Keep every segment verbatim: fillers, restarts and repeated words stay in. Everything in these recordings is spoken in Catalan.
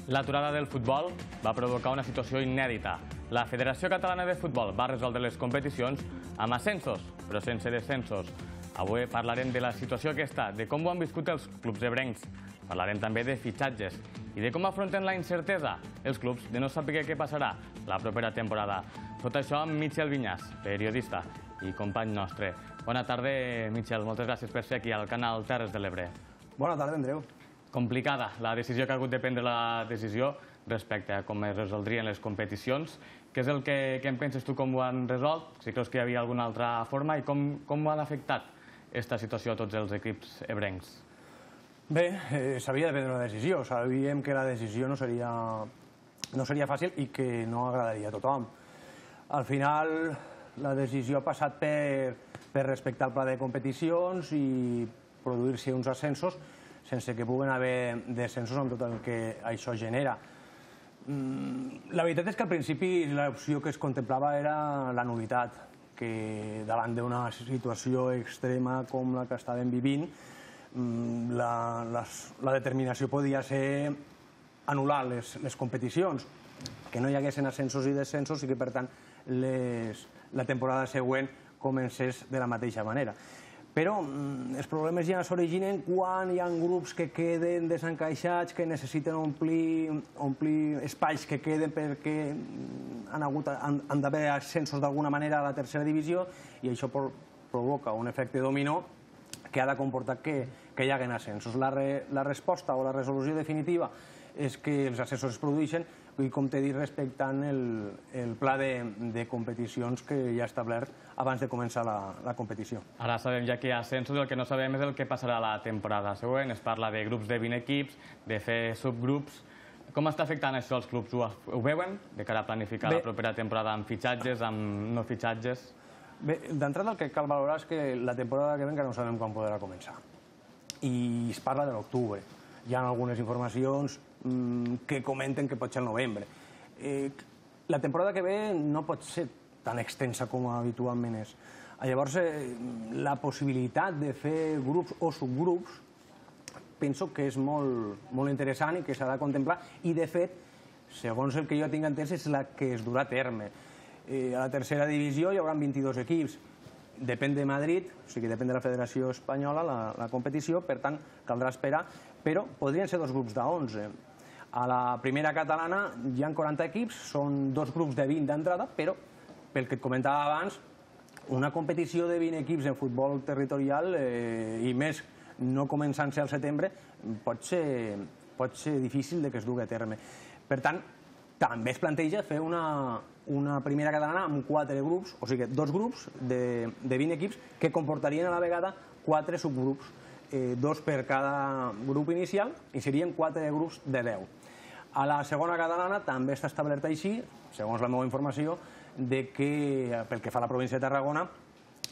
L'aturada del futbol va provocar una situació inèdita. La Federació Catalana de Futbol va resoldre les competicions amb ascensos, però sense descensos. Avui parlarem de la situació aquesta, de com ho han viscut els clubs ebrencs. Parlarem també de fitxatges i de com afronten la incertesa els clubs de no saber què passarà la propera temporada. Tot això amb Michel Vinyas, periodista i company nostre. Bona tarda, Michel. Moltes gràcies per ser aquí al canal Terres de l'Ebre. Bona tarda, Andreu. Complicada la decisió que ha hagut de prendre la decisió respecte a com es resoldrien les competicions. Què és el que, que en penses tu, com ho han resolt? Si creus que hi havia alguna altra forma i com, com ho han afectat aquesta situació a tots els equips ebrencs? Bé, eh, s'havia de prendre una decisió. Sabíem que la decisió no seria, no seria fàcil i que no agradaria a tothom. Al final, la decisió ha passat per, per respectar el pla de competicions i produir-se uns ascensos sense que puguen haver descensos amb tot el que això genera. La veritat és que al principi l'opció que es contemplava era la novetat, que davant d'una situació extrema com la que estàvem vivint, la, la, la determinació podia ser anul·lar les, les competicions, que no hi haguessin ascensos i descensos i que, per tant, les, la temporada següent comencés de la mateixa manera. Però els problemes ja s'originen quan hi ha grups que queden desencaixats, que necessiten omplir, omplir espais que queden perquè han, hagut, han, han d'haver ascensos d'alguna manera a la tercera divisió i això provoca un efecte dominó que ha de comportar que, que hi haguen ascensos. La, re, la resposta o la resolució definitiva és que els ascensos es produeixen i, com t'he dit, respectant el, el pla de, de competicions que hi ha establert abans de començar la, la competició. Ara sabem ja que hi ha ascensos, el que no sabem és el que passarà la temporada següent. Es parla de grups de vint equips, de fer subgrups. Com està afectant això als clubs? Ho, ho veuen de cara a planificar Bé, la propera temporada amb fitxatges, amb no fitxatges? Bé, d'entrada el que cal valorar és que la temporada que ve encara no sabem quan podrà començar. I es parla de l'octubre. Hi ha algunes informacions que comenten que pot ser el novembre. Eh, la temporada que ve no pot ser tan extensa com habitualment és. Llavors, eh, la possibilitat de fer grups o subgrups penso que és molt, molt interessant i que s'ha de contemplar i, de fet, segons el que jo tinc entès, és la que es durà a terme. Eh, a la tercera divisió hi haurà vint-i-dos equips. Depèn de Madrid, o sigui, depèn de la Federació Espanyola, la, la competició, per tant, caldrà esperar, però podrien ser dos grups d'onze. A la primera catalana hi ha quaranta equips, són dos grups de vint d'entrada, però, pel que et comentava abans, una competició de vint equips en futbol territorial, eh, i més no començant-se al setembre, pot ser, pot ser difícil de que es dugui a terme. Per tant, també es planteja fer una, una primera catalana amb quatre grups, o sigui, dos grups de, de vint equips que comportarien a la vegada quatre subgrups, eh, dos per cada grup inicial, i serien quatre grups de deu. A la segona catalana també està establert així, segons la meva informació, de que, pel que fa a la província de Tarragona,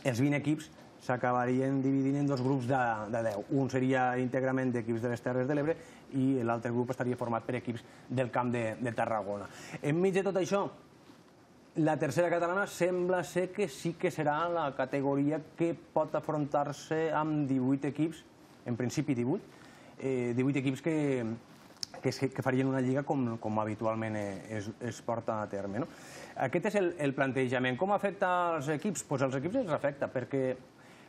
els vint equips s'acabarien dividint en dos grups de, de deu. Un seria íntegrament d'equips de les Terres de l'Ebre i l'altre grup estaria format per equips del Camp de, de Tarragona. Enmig de tot això, la tercera catalana sembla ser que sí que serà la categoria que pot afrontar-se amb divuit equips, en principi divuit, eh, divuit equips que, que, que farien una lliga com, com habitualment es, es porta a terme. No? Aquest és el, el plantejament. Com afecta als equips? Pues als equips els afecta, perquè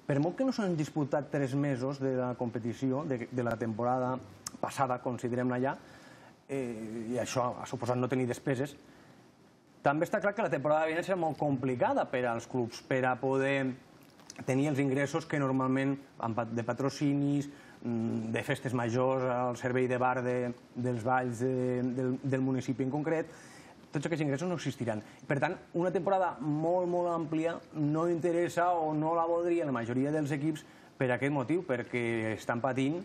per molt que no s'han disputat tres mesos de la competició, de, de la temporada passada, considerem-la ja, eh, i això ha suposat no tenir despeses, també està clar que la temporada vinent serà molt complicada per als clubs, per a poder tenir els ingressos que normalment de patrocinis, de festes majors, al servei de bar de, dels balls de, del, del municipi en concret, tots aquests ingressos no existiran. Per tant, una temporada molt, molt àmplia no interessa o no la voldria la majoria dels equips per aquest motiu, perquè estan patint,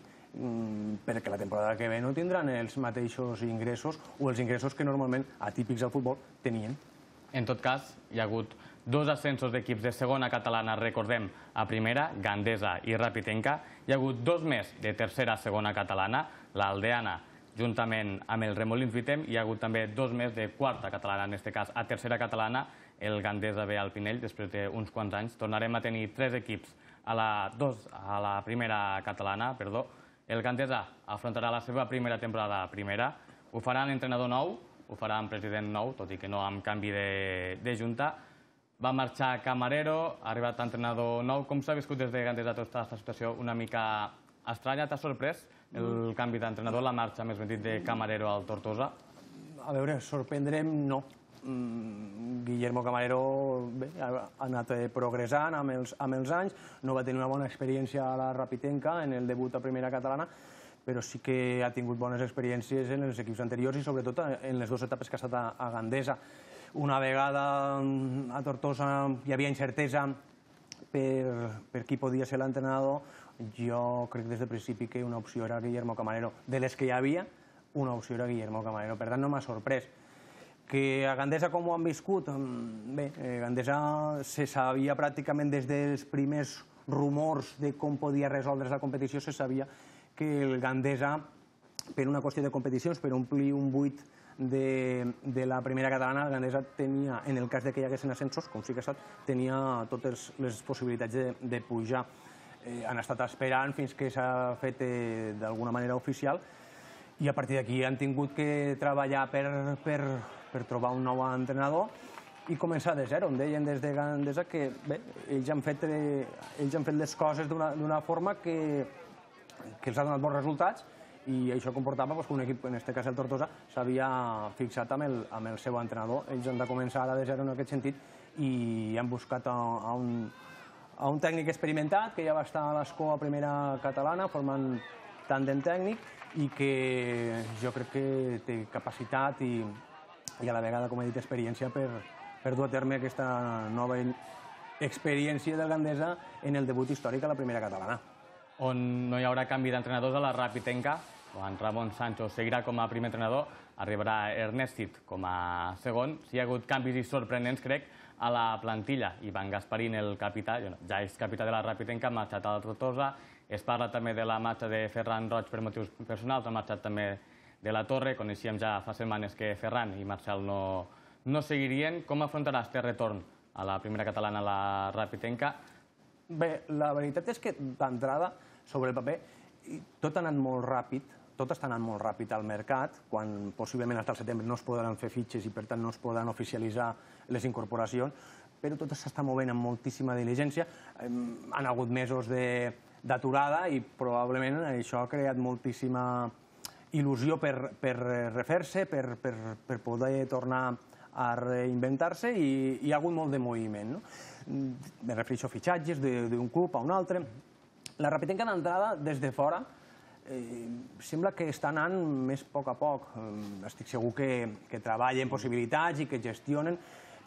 perquè la temporada que ve no tindran els mateixos ingressos o els ingressos que normalment, atípics al futbol, tenien. En tot cas, hi ha hagut dos ascensos d'equips de segona catalana, recordem, a primera, Gandesa i Rapitenca. Hi ha hagut dos més de tercera a segona catalana, l'Aldeana, juntament amb el Remolins Vitem, hi ha hagut també dos més de quarta catalana, en aquest cas a tercera catalana, el Gandesa ve al Pinell, després d'uns quants anys. Tornarem a tenir tres equips a la, dos, a la primera catalana, perdó. El Gandesa afrontarà la seva primera temporada a primera, Ho farà l'entrenador nou, ho farà amb president nou, tot i que no amb canvi de junta. Va marxar Camarero, ha arribat entrenador nou. Com s'ha viscut des de Gandesa tota aquesta situació una mica estranya? T'ha sorprès el canvi d'entrenador, la marxa, més ben dit, de Camarero al Tortosa? A veure, sorprendrem no. Guillermo Camarero ha anat progressant amb els anys, no va tenir una bona experiència a la Rapitenca en el debut a primera catalana, però sí que ha tingut bones experiències en els equips anteriors i sobretot en les dues etapes que ha estat a Gandesa. Una vegada a Tortosa hi havia incertesa per qui podia ser l'entrenador, jo crec des del principi que una opció era Guillermo Camarero. De les que hi havia, una opció era Guillermo Camarero. Per tant, no m'ha sorprès. Que a Gandesa com ho han viscut? Bé, Gandesa se sabia pràcticament des dels primers rumors de com podia resoldre's la competició, se sabia que el Gandesa, per una qüestió de competicions, per omplir un buit de la primera catalana, el Gandesa tenia, en el cas que hi haguessin ascensos, com sí que ha estat, tenia totes les possibilitats de pujar. Han estat esperant fins que s'ha fet d'alguna manera oficial i a partir d'aquí han tingut que treballar per trobar un nou entrenador i començar de zero. Em deien des de Gandesa que ells han fet les coses d'una forma que els ha donat bons resultats i això comportava que un equip, en aquest cas el Tortosa, s'havia fixat amb el seu entrenador. Ells han de començar ara de zero en aquest sentit i han buscat a un tècnic experimentat que ja va estar a l'Escó a primera catalana formant tàndem tècnic i que jo crec que té capacitat i a la vegada, com he dit, experiència per dur a terme aquesta nova experiència del Gandesa en el debut històric a la primera catalana. On no hi haurà canvi d'entrenadors a la Rapitenca, quan Ramon Sancho seguirà com a primer entrenador, arribarà Ernestit com a segon. Si hi ha hagut canvis sorprenents, crec, a la plantilla. Ivan Gasparín, el capità, ja és capità de la Rapitenca, ha marxat a la Tortosa. Es parla també de la marxa de Ferran Roig per motius personals, ha marxat també de la Torre. Coneixíem ja fa setmanes que Ferran i Marcel no seguirien. Com afrontarà este retorn a la primera catalana a la Rapitenca? Bé, la veritat és que d'entrada, sobre el paper, tot ha anat molt ràpid, tot està anant molt ràpid al mercat, quan possiblement fins al setembre no es podran fer fitxes i per tant no es podran oficialitzar les incorporacions, però tot s'està movent amb moltíssima diligència. Han hagut mesos d'aturada i probablement això ha creat moltíssima il·lusió per refer-se, per poder tornar a reinventar-se i hi ha hagut molt de moviment. Me refereixo a fitxatges d'un club a un altre. La Rapitenca d'entrada, des de fora, sembla que està anant més a poc a poc. Estic segur que treballen possibilitats i que gestionen,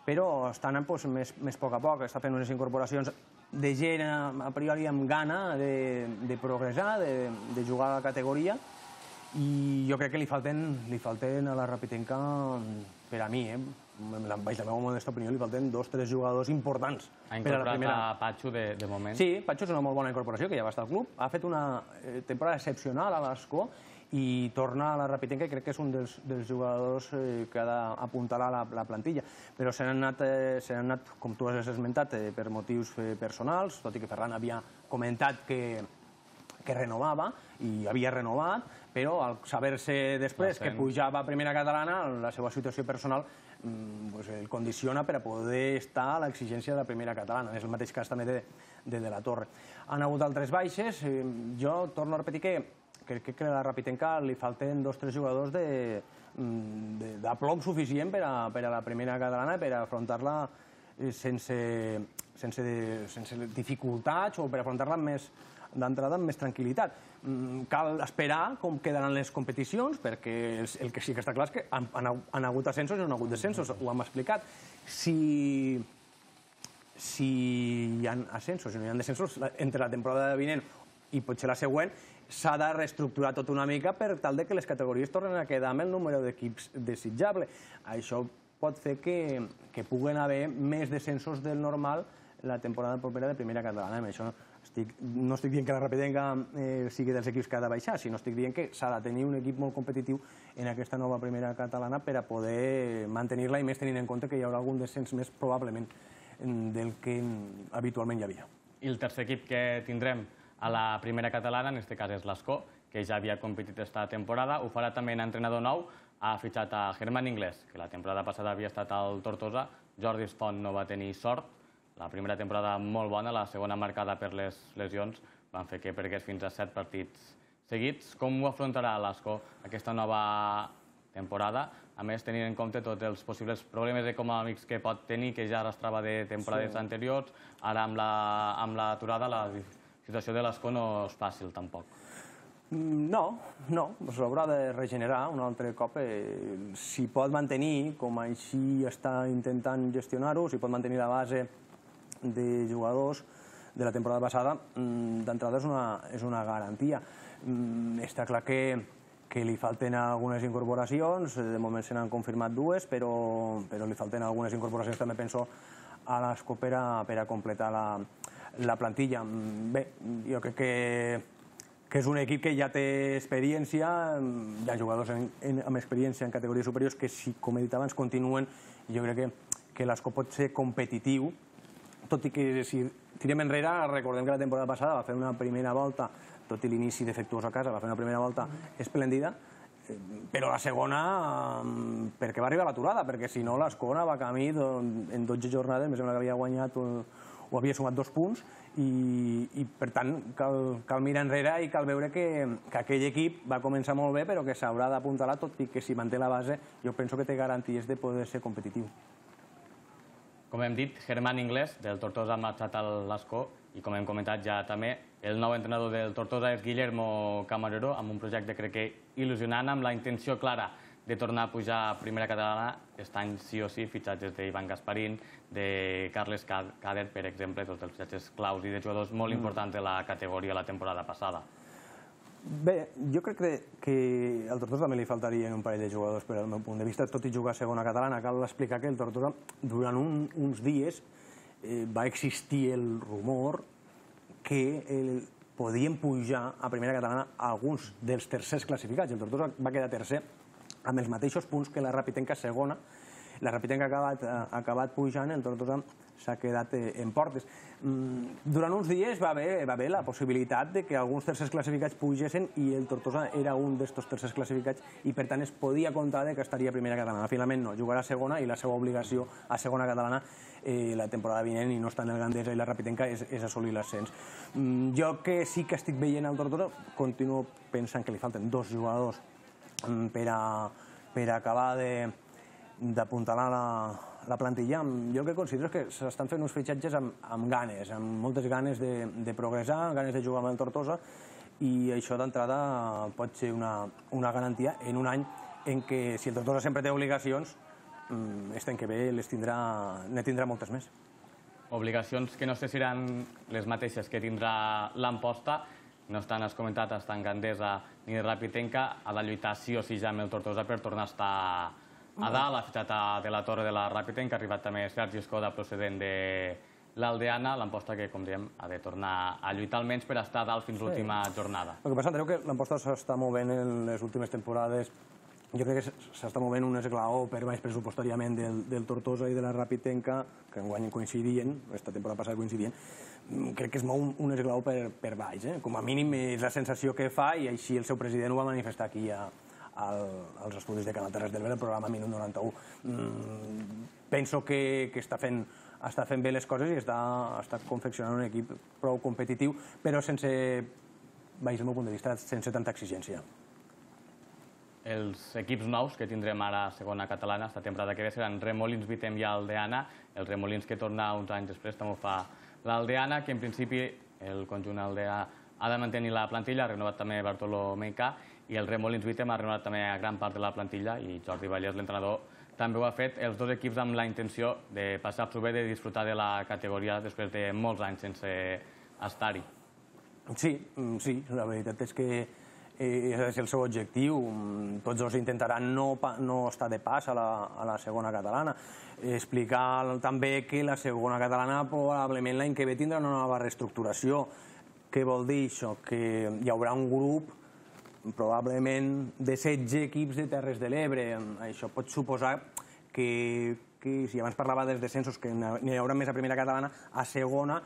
però està anant més a poc a poc. Està fent unes incorporacions de gent a priori amb gana de progressar, de jugar a la categoria, i jo crec que li falten a la Rapitenca, per a mi, baix la meva modesta opinió, li falten dos o tres jugadors importants. Ha incorporat a Patxo de moment? Sí, Patxo és una molt bona incorporació, que ja va estar al club. Ha fet una temporada excepcional a l'Escó i torna a la Rapitenca i crec que és un dels jugadors que ha d'apuntalar la plantilla. Però se n'han anat, com tu has esmentat, per motius personals, tot i que Ferran havia comentat que renovava i havia renovat, però al saber-se després que pujava a primera catalana, la seva situació personal el condiciona per a poder estar a l'exigència de la primera catalana. És el mateix cas també de la Torre. Han hagut altres baixes. Jo torno a repetir que crec que a la Rapitenca li falten dos o tres jugadors de plom suficient per a la primera catalana, per a afrontar-la sense dificultats o per afrontar-la d'entrada amb més tranquil·litat. Cal esperar com quedaran les competicions, perquè el que sí que està clar és que han hagut ascensos i no han hagut descensos, ho hem explicat. Si hi ha ascensos i no hi ha descensos, entre la temporada vinent i potser la següent, s'ha de reestructurar tot una mica per tal que les categories tornen a quedar amb el número d'equips desitjable. Això pot fer que puguen haver més descensos del normal la temporada propera de primera catalana. Amb això no estic dient que la Rapitenca sigui dels equips que ha de baixar, sinó estic dient que s'ha de tenir un equip molt competitiu en aquesta nova primera catalana per a poder mantenir-la i més tenint en compte que hi haurà algun descens més probablement del que habitualment hi havia. I el tercer equip que tindrem a la primera catalana, en aquest cas és l'Escó, que ja havia competit esta temporada. Ho farà també en entrenador nou. Ha fitxat a Germán Inglés, que la temporada passada havia estat al Tortosa. Jordi Font no va tenir sort. La primera temporada molt bona, la segona marcada per les lesions van fer que pergués fins a set partits seguits. Com ho afrontarà l'Ascó aquesta nova temporada? A més, tenint en compte tots els possibles problemes econòmics que pot tenir, que ja arrastrava de temporades anteriors, ara amb l'aturada la situació de l'Ascó no és fàcil tampoc. No, no, s'haurà de regenerar un altre cop. Si pot mantenir, com així està intentant gestionar-ho, si pot mantenir la base de jugadors de la temporada passada, d'entrada és una garantia. Està clar que li falten algunes incorporacions, de moment se n'han confirmat dues, però li falten algunes incorporacions, també penso, a l'Ascó per a completar la plantilla. Bé, jo crec que que és un equip que ja té experiència, hi ha jugadors amb experiència en categories superiors que, com he dit abans, continuen. Jo crec que l'Ascó pot ser competitiu, tot i que si tirem enrere, recordem que la temporada passada va fer una primera volta, tot i l'inici defectuós a casa, va fer una primera volta esplèndida, però la segona perquè va arribar a l'aturada, perquè si no l'Ascó va camí en dotze jornades, em sembla que havia guanyat o havia sumat dos punts, i per tant cal mirar enrere i cal veure que aquell equip va començar molt bé però que s'haurà d'apuntalar, tot i que si manté la base jo penso que té garanties de poder ser competitiu. Com hem dit, Germán Inglés del Tortosa ha marxat a l'Ascó i com hem comentat ja també el nou entrenador del Tortosa és Guillermo Camarero, amb un projecte crec que il·lusionant, amb la intenció clara de tornar a pujar a primera catalana. Aquest any sí o sí, fitxatges d'Ivan Gasparín, de Carles Cadet, per exemple, tots els fitxatges claus i de jugadors molt importants de la categoria la temporada passada. Bé, jo crec que al Tortosa també li faltarien un parell de jugadors, però al meu punt de vista, tot i jugar a segona catalana, cal explicar que el Tortosa durant uns dies va existir el rumor que podien pujar a primera catalana alguns dels tercers classificats. El Tortosa va quedar tercer amb els mateixos punts que la Rapitenca segona. La Rapitenca ha acabat pujant, el Tortosa s'ha quedat en portes. Durant uns dies va haver la possibilitat que alguns tercers classificats pugessin i el Tortosa era un d'aquests tercers classificats i per tant es podia comptar que estaria a primera catalana. Finalment no, jugarà a segona i la seva obligació a segona catalana la temporada vinent, i no està en el Gandesa i la Rapitenca, és assolir l'ascens. Jo que sí que estic veient el Tortosa, continuo pensant que li falten dos jugadors per acabar d'apuntalar la plantilla. Jo el que considero és que s'estan fent uns fitxatges amb ganes, amb moltes ganes de progressar, ganes de jugar amb el Tortosa, i això d'entrada pot ser una garantia en un any en què, si el Tortosa sempre té obligacions, aquest any que ve ne tindrà moltes més. Obligacions que no sé si seran les mateixes que tindrà l'Amposta. No estan, has comentat, estan Gandesa ni Rapitenca, ha de lluitar sí o sí ja amb el Tortosa per tornar a estar a dalt. Ha fitxat de la torre de la Rapitenca, ha arribat també Sergi Escoda procedent de l'Aldeana, l'Amposta que, com diem, ha de tornar a lluitar almenys per estar a dalt fins l'última jornada. El que passa, Andreu, que l'Amposta s'està movent en les últimes temporades, jo crec que s'està movent un esglaó per baix pressupostàriament del Tortosa i de la Rapitenca, que enguany coincidien, aquesta temporada passada coincidien. Crec que es mou un esglaó per baix. Com a mínim és la sensació que fa, i així el seu president ho va manifestar aquí als estudis de Canal Terres del Ver, el programa Minut noranta-u. Penso que està fent bé les coses i està confeccionant un equip prou competitiu, però sense, baix el meu punt de vista, sense tanta exigència. Els equips nous que tindrem ara a segona catalana, esta temporada que ve, seran Remolins, Vitem i Aldeana. El Remolins, que torna uns anys després, també ho fa l'Aldeana, que en principi el conjunt aldeà ha de mantenir la plantilla, ha renovat també Bartolomé K, i el Remolins Vitem ha renovat també a gran part de la plantilla, i Jordi Vallès, l'entrenador, també ho ha fet. Els dos equips amb la intenció de passar-s'ho bé, de disfrutar de la categoria després de molts anys sense estar-hi. Sí, sí, la veritat és que és el seu objectiu. Tots dos intentaran no estar de pas a la segona catalana. Explicar també que la segona catalana probablement l'any que ve tindrà una nova reestructuració. Què vol dir això? Que hi haurà un grup probablement de setze equips de Terres de l'Ebre. Això pot suposar que, si abans parlava dels descensos, que n'hi haurà més a primera catalana, a segona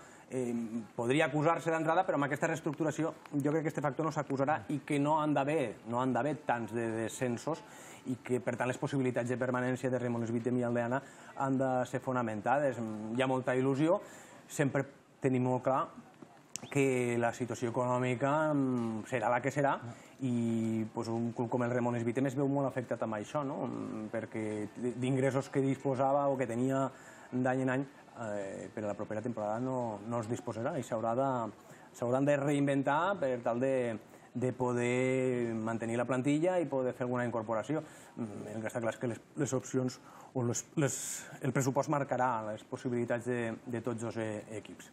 podria acusar-se d'entrada, però amb aquesta reestructuració jo crec que aquest factor no s'acusarà i que no han d'haver tants de descensos i que, per tant, les possibilitats de permanència de Remones Beatem i Aldeana han de ser fonamentades. Hi ha molta il·lusió, sempre tenim molt clar que la situació econòmica serà la que serà i un club com el Remones Beatem es veu molt afectat amb això, perquè d'ingressos que disposava o que tenia d'any en any per a la propera temporada no es disposarà i s'hauran de reinventar per tal de poder mantenir la plantilla i poder fer alguna incorporació. El que està clar és que les opcions o el pressupost marcarà les possibilitats de tots els equips.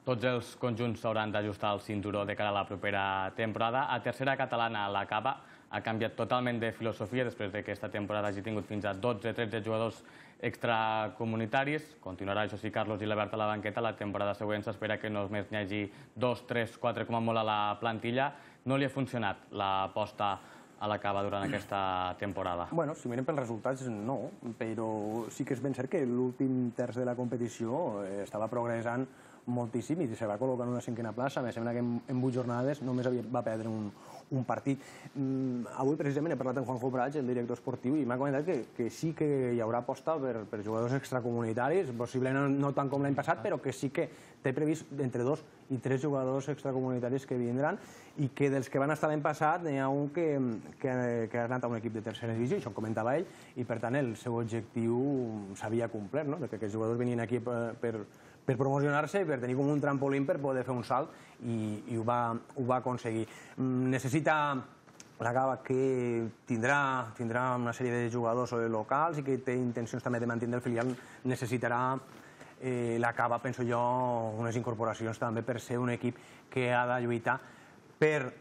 Tots els conjunts s'hauran d'ajustar el cinturó de cara a la propera temporada. A tercera catalana, la Cava ha canviat totalment de filosofia després que aquesta temporada hagi tingut fins a dotze tretze jugadors extracomunitaris. Continuarà, això sí, Carlos Gilabert a la banqueta. La temporada següent s'espera que només n'hi hagi dos, tres, quatre com a molt a la plantilla. No li ha funcionat l'aposta a la Cava durant aquesta temporada? Bueno, si mirem pels resultats, no, però sí que és ben cert que l'últim terç de la competició estava progressant moltíssim i se va col·locar en una cinquena plaça. Me sembla que en vuit jornades només va perdre un partit. Avui, precisament, he parlat amb Juanjo Prats, el director esportiu, i m'ha comentat que sí que hi haurà aposta per jugadors extracomunitaris, possiblement no tant com l'any passat, però que sí que té previst entre dos i tres jugadors extracomunitaris que vindran i que dels que van estar l'any passat n'hi ha un que ha anat a un equip de tercera divisió, això ho comentava ell, i per tant el seu objectiu s'havia complert, que aquests jugadors venien aquí per per promocionar-se i per tenir com un trampolín per poder fer un salt i ho va aconseguir. Necessita la Cava, que tindrà una sèrie de jugadors locals i que té intencions també de mantenir el filial, necessitarà la Cava, penso jo, unes incorporacions també per ser un equip que ha de lluitar per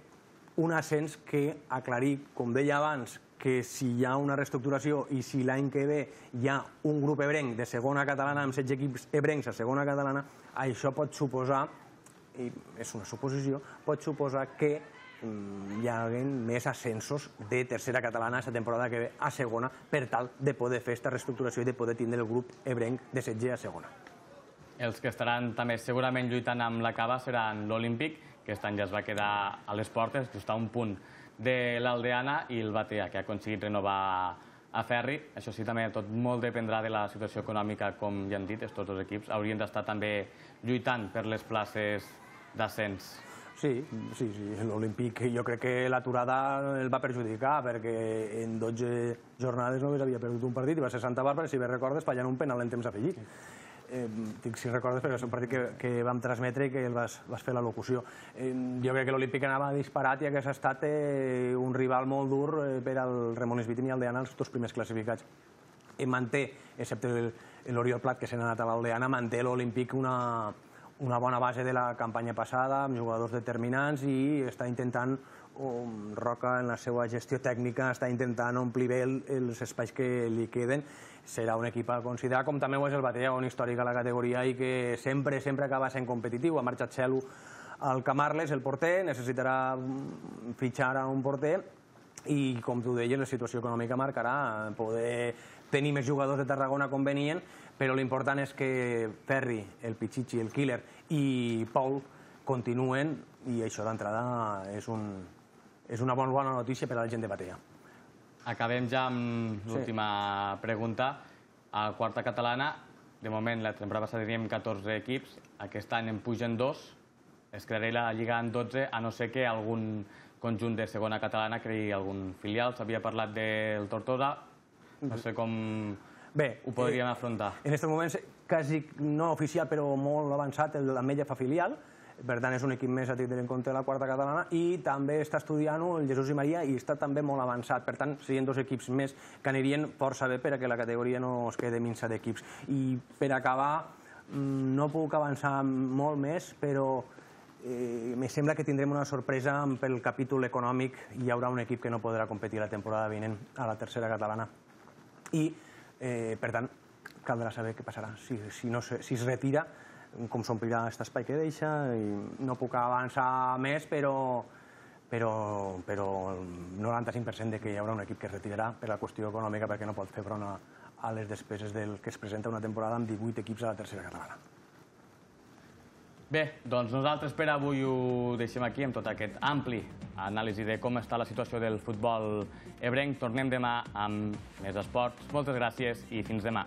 un ascens que aclarir, com deia abans, que si hi ha una reestructuració i si l'any que ve hi ha un grup ebrenc de segona catalana amb setze equips ebrencs a segona catalana, això pot suposar, i és una suposició, pot suposar que hi hagi més ascensos de tercera catalana aquesta temporada que ve a segona per tal de poder fer aquesta reestructuració i de poder tindre el grup ebrenc de setze a segona. Els que estaran també segurament lluitant amb la Cava seran l'Olímpic, que aquest any ja es va quedar a les portes, just a un punt de l'Aldeana, i el Batea, que ha aconseguit renovar a Ferri. Això sí, també tot molt dependrà de la situació econòmica, com ja han dit, tots els equips haurien d'estar també lluitant per les places d'ascens. Sí, sí, sí, l'Olímpic jo crec que l'aturada el va perjudicar perquè en dotze jornades només havia perdut un partit i va ser Santa Bàrbara, si bé recordes, fallant un penal en temps afegit. Dic si recordes perquè és un partit que vam transmetre i que el vas fer la locució. Jo crec que l'Olímpic anava disparat i hagués estat un rival molt dur per al Remones Beatem i Aldeana, els dos primers classificats. Manté, excepte l'Oriol Plat, que se n'ha anat a l'Aldeana, manté l'Olímpic una bona base de la campanya passada, amb jugadors determinants, i està intentant, Roca, en la seva gestió tècnica, està intentant omplir bé els espais que li queden. Serà un equip a considerar, com també ho és el Batea, un històric a la categoria i que sempre, sempre acaba sent competitiu. Ha marxat Xelu al Camarles, el porter, necessitarà fitxar a un porter i, com tu deies, la situació econòmica marcarà poder tenir més jugadors de Tarragona com venien, però l'important és que Ferri, el Pichichi, el Killer i Paul continuen, i això d'entrada és una bona notícia per a la gent de Batea. Acabem ja amb l'última pregunta. A quarta catalana, de moment, la temporada passada teníem catorze equips, aquest any en pugen dos, es crearà la Lliga en dotze, a no ser que algun conjunt de segona catalana creï algun filial. S'havia parlat del Tortosa, no sé com ho podríem afrontar. En aquests moments, quasi no oficial, però molt avançat, l'Ametlla fa filial, per tant és un equip més a tindre en compte de la quarta catalana, i també està estudiant-ho el Jesús i Maria i està també molt avançat, per tant serien dos equips més que anirien força bé perquè la categoria no es quede minsa d'equips. I per acabar, no puc avançar molt més, però em sembla que tindrem una sorpresa pel capítol econòmic. Hi haurà un equip que no podrà competir la temporada vinent a la tercera catalana i, per tant, caldrà saber què passarà. Si es retira, com s'omplirà aquest espai que deixa, no puc avançar més, però el noranta-cinc per cent que hi haurà un equip que es retirarà per la qüestió econòmica perquè no pot fer front a les despeses del que es presenta una temporada amb divuit equips a la tercera catalana. Bé, doncs nosaltres per avui ho deixem aquí amb tot aquest ampli anàlisi de com està la situació del futbol ebrenc. Tornem demà amb més esports. Moltes gràcies i fins demà.